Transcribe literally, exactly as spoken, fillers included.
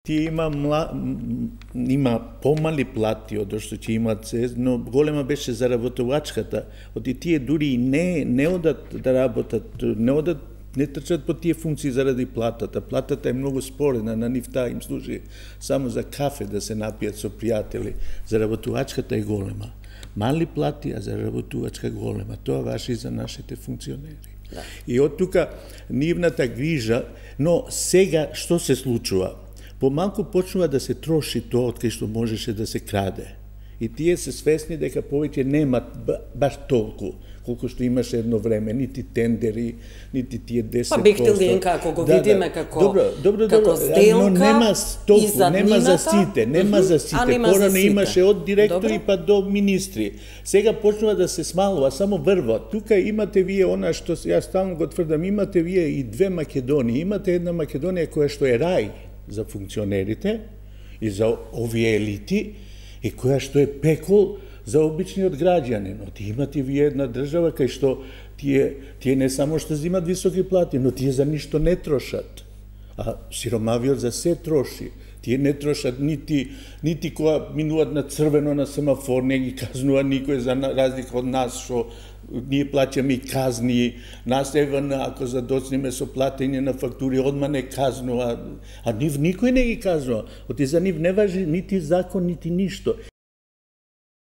Тие има мла... има помали плати од што ќе имат се, но голема беше заработувачката. Оти тие дури не не одат да работат, не одат, не трчат по тие функции заради платата. Платата е многу спорена, на нив таа им служи само за кафе да се напијат со пријатели. Заработувачката е голема. Мали плати, а заработувачка голема. Тоа важи и за нашите функционери. Да. И од тука нивната грижа, но сега што се случува? Помалку почнува да се троши тоа од кај што можеше да се краде. И тие се свесни дека повеќе немат баш толку колку што имаше едно време, нити тендери, нити тие десет проценти. Па Бехтелин како го да, видиме да. како добро, добро, како добро, сделка, но нема толку, нема за сите, нема за сите. Порано имаше од директори добро. Па до министри. Сега почнува да се смалува, само врво. Тука имате вие она што јас стално го тврдам, имате вие и две Македонии. Имате една Македонија која што е рај за функционерите и за овие елити, и која што е пекол за обичниот граѓанин. Но тие имате вие една држава кај што тие, тие не само што земат високи плати, но тие за ништо не трошат. А сиромавиот за се троши. Тие не трошат нити, нити кога минуваат на црвено на семафор, не ги казнува никој, за разлика од нас, што ние плаќаме и казни, нас ЕВН, ако задоцнеме со платење на фактури, одма не казнува, а нив никој не ги казнува. Оти за нив не важи нити закон, нити ништо.